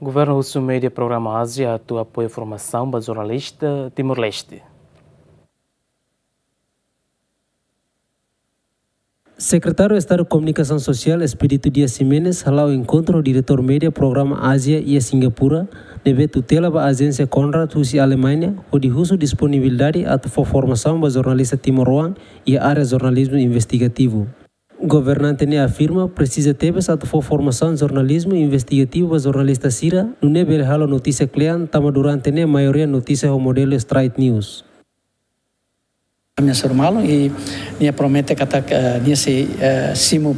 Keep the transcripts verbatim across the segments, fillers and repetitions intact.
Governu husu média Programa Ázia atu apoia formasaun ba jornalista Timor-Leste. Sekretáriu Estadu Komunikasaun Sosiál, Expedito Dias Ximenes, hala'o enkontru ho diretór média Programa Ázia iha Singapura, ne'ebé tutela ba ajénsia Konrad husi Alemaña, hodi husu disponibilidade atu fó formasaun ba jornalista timoroan iha área jornalizmu investigativu. Governante ne'e afirma presiza tebes atu fó formasaun jornalizmu investigativu ba jornalista sira, nune'e bele halo notísia kle'an, tanba durante ne'e maioria notísia ho modelu straight news. Ami hasoru malu i nia promete katak, eh, nia sei, eh, simu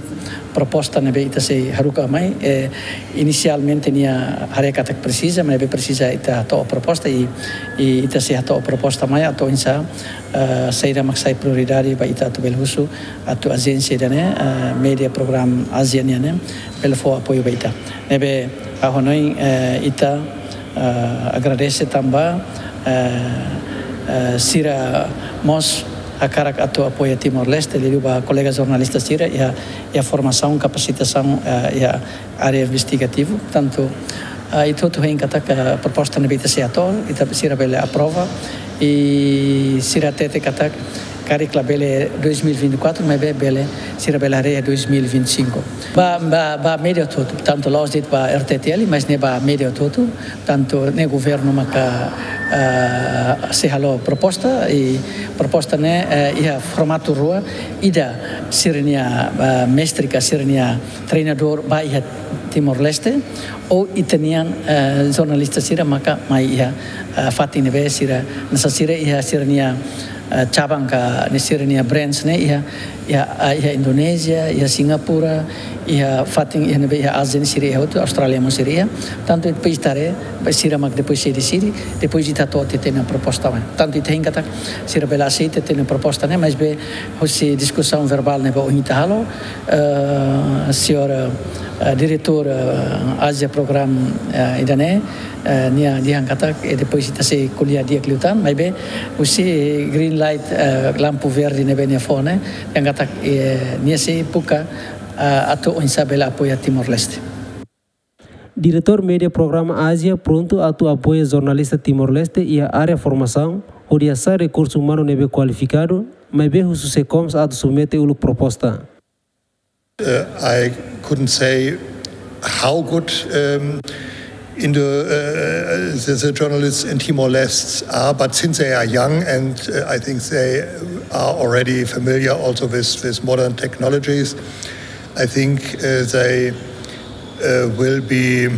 proposta ne'ebé ita sei haruka mai, eh, inisialmente nia haree katak presiza, maibé presiza ita hato'o proposta i, i ita sei hato'o proposta mai atu oinsá, eh, saida mak sai prioridade ba ita atu bele husu atu ajénsia ida-ne'e, eh, média Programa Ázia nian ne'e bele fó apoiu ba ita. Ne'ebé ha'u hanoin, eh, ita, eh, agradese tanba, eh, eh, sira mós hakarak atu apoia Timor-Leste, liuliu ba kolega jornalista sira iha, iha formasaun, kapasitasaun, eh, iha área investigativu. Portantu, eh, ita hotu hein katak, eh, proposta ne'ebé ita sei hato'o, ita sira bele aprova, i sira hatete katak karik labele dois mil e vinte e quatro, maibé bele, sira bele haree dois mil e vinte e cinco. Ba, ba, ba média hotu-hotu, tantu la'ós de'it ba R T T L, mas ne'e ba média hotu-hotu, tantu ne'e governu maka, ah, sei halo proposta, i proposta ne'e, eh, iha formatu rua, ida sira-nia, ah, mestre ka sira-nia treinadór ba iha Timor-Leste, ou ita-nian, eh, jornalista sira maka mai iha, eh, fatin ne'ebé sira, hanesan sira iha sira-nia, eh, cabang ka ne'e sira-nia branch ne'e iha, iha, eh, iha Indonézia, iha Singapura, iha fatin iha ne'ebé iha Ázia ne'e sira iha hotu, Austrália mós sira iha. Tantu depois ita haree, ba sira mak depois sei deside, depois ita hato'o tiha tiha ona proposta mai. Tantu ita hein katak sira bele aseita tiha tiha ona proposta ne'e, maibé husi diskusaun verbál ne'ebé ohin ita halo, eh, señór, eh, diretór, eh, Ázia Programa, eh, ida-ne'e, eh, nia dehan katak, eh, depois ita sei ko'alia di'ak liután, maibé husi green light, eh, lampu verde ne'ebé nia fó ne'e, dehan katak, eh, nia sei buka, eh, atu oinsá bele apoia Timor-Leste. Diretór média Programa Ázia prontu atu apoia jornalista Timor-Leste iha área formasaun, hodi hasa'e rekursu umanu ne'ebé kualifikadu, maibé husu SEKOMS atu submete uluk proposta. Uh, I couldn't say how good, um, in the, uh, the, the journalists in Timor-Leste are, but since they are young and, uh, I think they are already familiar also with, with modern technologies, I think, uh, they, uh, will be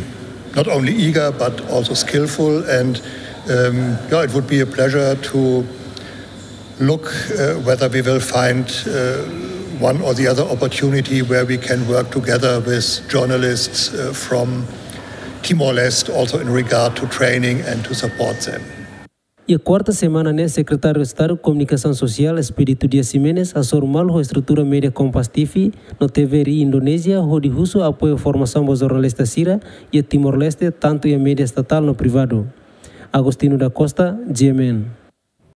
not only eager but also skillful. And, um, yeah, it would be a pleasure to look, uh, whether we will find, uh, one or the other opportunity where we can work together with journalists, uh, from Timor-Leste, also in regard to training and to support them. Iha kuarta semana ne'e, Sekretáriu Estadu Komunikasaun Sosiál, Expedito Dias Ximenes, hasoru malu ho estrutura média Kompas T V no T V R I Indonézia, hodi husu apoiu formasaun ba jornalista sira iha Timor-Leste, tantu iha média estatál no privadu. Agostinho da Costa, G M N.